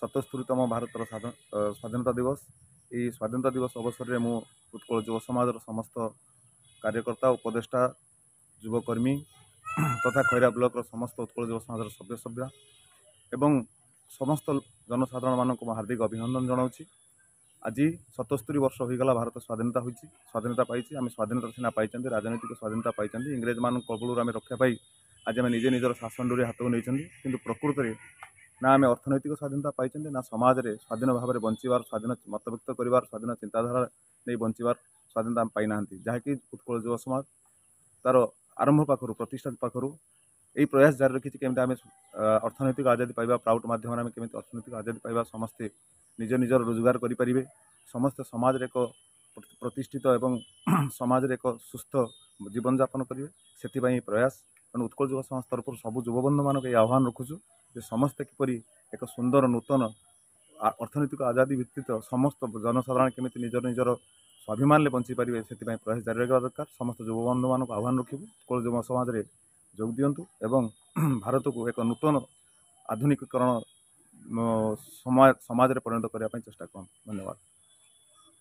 77ତମ ଭାରତର ସ୍ୱାଧୀନତା ଦିବସ। ଏହି ସ୍ୱାଧୀନତା ଦିବସ ଅବସରରେ ମୁଁ ଉତ୍କଳ ଯୁବ ସମାଜର ସମସ୍ତ କାର୍ଯ୍ୟକର୍ତ୍ତା, ଉପଦେଷ୍ଟା, ଯୁବକର୍ମୀ ତଥା ଖଇରା ବ୍ଲକର ସମସ୍ତ ଉତ୍କଳ ଯୁବ ସମାଜର ସଭ୍ୟ ସଭ୍ୟା ଏବଂ ସମସ୍ତ ଜନସାଧାରଣମାନଙ୍କୁ ମୁଁ ହାର୍ଦ୍ଦିକ ଅଭିନନ୍ଦନ ଜଣାଉଛି। ଆଜି 77 ବର୍ଷ ହୋଇଗଲା ଭାରତ ସ୍ୱାଧୀନତା ହୋଇଛି, ସ୍ୱାଧୀନତା ପାଇଛି। ଆମେ ସ୍ୱାଧୀନତା ସିନା ପାଇଛନ୍ତି, ରାଜନୈତିକ ସ୍ୱାଧୀନତା ପାଇଛନ୍ତି, ଇଂରେଜମାନଙ୍କ କବଳରୁ ଆମେ ରକ୍ଷା ପାଇ ଆଜି ଆମେ ନିଜେ ନିଜର ଶାସନ ଡୋରି ହାତକୁ ନେଇଛନ୍ତି, କିନ୍ତୁ ପ୍ରକୃତରେ ନା ଆମେ ଅର୍ଥନୈତିକ ସ୍ୱାଧୀନତା ପାଇଛନ୍ତି, ନା ସମାଜରେ ସ୍ୱାଧୀନ ଭାବରେ ବଞ୍ଚିବାର, ସ୍ୱାଧୀନ ମତବ୍ୟକ୍ତ କରିବାର, ସ୍ୱାଧୀନ ଚିନ୍ତାଧାରା ନେଇ ବଞ୍ଚିବାର ସ୍ୱାଧୀନତା ଆମେ ପାଇନାହାନ୍ତି। ଯାହାକି ଉତ୍କଳ ଯୁବ ସମାଜ ତା'ର ଆରମ୍ଭ ପାଖରୁ, ପ୍ରତିଷ୍ଠା ପାଖରୁ ଏହି ପ୍ରୟାସ ଜାରି ରଖିଛି, କେମିତି ଆମେ ଅର୍ଥନୈତିକ ଆଜାଦି ପାଇବା, ପ୍ରାଉଟ୍ ମାଧ୍ୟମରେ ଆମେ କେମିତି ଅର୍ଥନୈତିକ ଆଜାଦି ପାଇବା, ସମସ୍ତେ ନିଜ ନିଜର ରୋଜଗାର କରିପାରିବେ, ସମସ୍ତେ ସମାଜରେ ଏକ ପ୍ରତିଷ୍ଠିତ ଏବଂ ସମାଜରେ ଏକ ସୁସ୍ଥ ଜୀବନଯାପନ କରିବେ, ସେଥିପାଇଁ ଏହି ପ୍ରୟାସ। ତେଣୁ ଉତ୍କଳ ଯୁବ ସମାଜ ତରଫରୁ ସବୁ ଯୁବବନ୍ଧୁମାନଙ୍କୁ ଏହି ଆହ୍ୱାନ ରଖୁଛୁ ଯେ ସମସ୍ତେ କିପରି ଏକ ସୁନ୍ଦର ନୂତନ ଅର୍ଥନୈତିକ ଆଜାଦି ଭିତ୍ତିତ ସମସ୍ତ ଜନସାଧାରଣ କେମିତି ନିଜର ନିଜର ସ୍ୱାଭିମାନରେ ବଞ୍ଚିପାରିବେ, ସେଥିପାଇଁ ପ୍ରୟାସ ଜାରି ରଖିବା ଦରକାର। ସମସ୍ତ ଯୁବବନ୍ଧୁମାନଙ୍କୁ ଆହ୍ୱାନ ରଖିବୁ, ଉତ୍କଳ ଯୁବ ସମାଜରେ ଯୋଗ ଦିଅନ୍ତୁ ଏବଂ ଭାରତକୁ ଏକ ନୂତନ ଆଧୁନିକୀକରଣ ସମାଜରେ ପରିଣତ କରିବା ପାଇଁ ଚେଷ୍ଟା କରନ୍ତୁ। ଧନ୍ୟବାଦ।